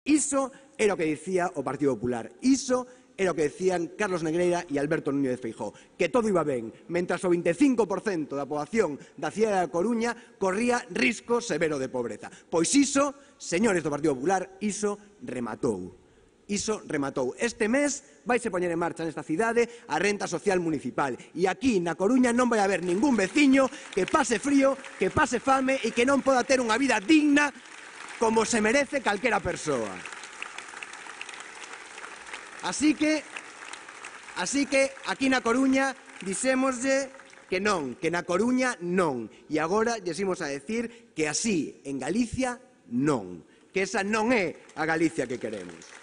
Iso era o que dicía o Partido Popular. Iso era o que decían Carlos Negreira e Alberto Núñez de Feijóo, que todo iba ben, mentras o 25% da poboación da cidade da Coruña corría risco severo de pobreza. Pois iso, señores do Partido Popular, iso rematou. Iso rematou. Este mes vaise poñer en marcha nesta cidade a renta social municipal e aquí na Coruña non vai haber ningún veciño que pase frío, que pase fame e que non poda ter unha vida digna como se merece calquera persoa. Así que aquí na Coruña dixémoslle que non, que na Coruña non. E agora lles imos a decir que así en Galicia non, que esa non é a Galicia que queremos.